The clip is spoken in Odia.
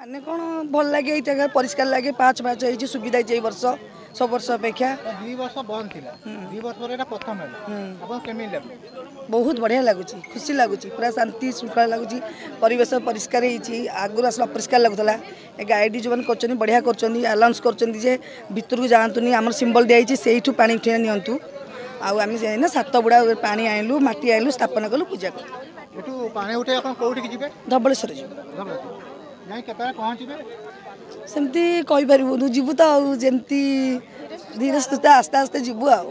ମାନେ କ'ଣ ଭଲ ଲାଗେ, ଏଇ ଜାଗା ପରିଷ୍କାର ଲାଗେ, ପାହାଚ ପାହାଚ ହେଇଛି, ସୁବିଧା ହେଇଛି ଏଇ ବର୍ଷ ସବୁ ବର୍ଷ ଅପେକ୍ଷା। 2 ବର୍ଷ ବନ୍ଦ ଥିଲା, 2 ବର୍ଷ ପରେ ଏଇଟା ପ୍ରଥମ ହେଲା, ଆପଣ କେମିତି ଲାଗୁଛି? ବହୁତ ବଢ଼ିଆ ଲାଗୁଛି, ଖୁସି ଲାଗୁଛି, ପୁରା ଶାନ୍ତି ଶୃଙ୍ଖଳା ଲାଗୁଛି। ପରିବେଶ ପରିଷ୍କାର ହେଇଛି, ଆଗରୁ ଆସିଲେ ଅପରିଷ୍କାର ଲାଗୁଥିଲା। ଏ ଗାଇଡ଼ ଯେଉଁମାନେ କରୁଛନ୍ତି ବଢ଼ିଆ କରୁଛନ୍ତି, ଆନାଉନ୍ସ କରୁଛନ୍ତି ଯେ ଭିତରକୁ ଯାଆନ୍ତୁନି, ଆମର ସିମ୍ବଲ ଦିଆହେଇଛି, ସେଇଠୁ ପାଣି ଉଠେଇ ନିଅନ୍ତୁ। ଆଉ ଆମେ ଯାଇନା 7 ବୁଡ଼ା ପାଣି ଆଣିଲୁ, ମାଟି ଆଣିଲୁ, ସ୍ଥାପନା କଲୁ, ପୂଜା କଲୁ। ଏଠୁ ପାଣି ଉଠେଇ ଆପଣ କୋଉଠିକି ଯିବେ? ଧବଳେଶ୍ୱର ଯିବୁ। ଯାଇ କେତେବେଳେ ପହଞ୍ଚିବେ? ସେମିତି କହିପାରିବୁନୁ, ଯିବୁ ତ ଆଉ, ଯେମିତି ଧୀରେ ସୁସ୍ଥେ ଆସ୍ତେ ଆସ୍ତେ ଯିବୁ ଆଉ।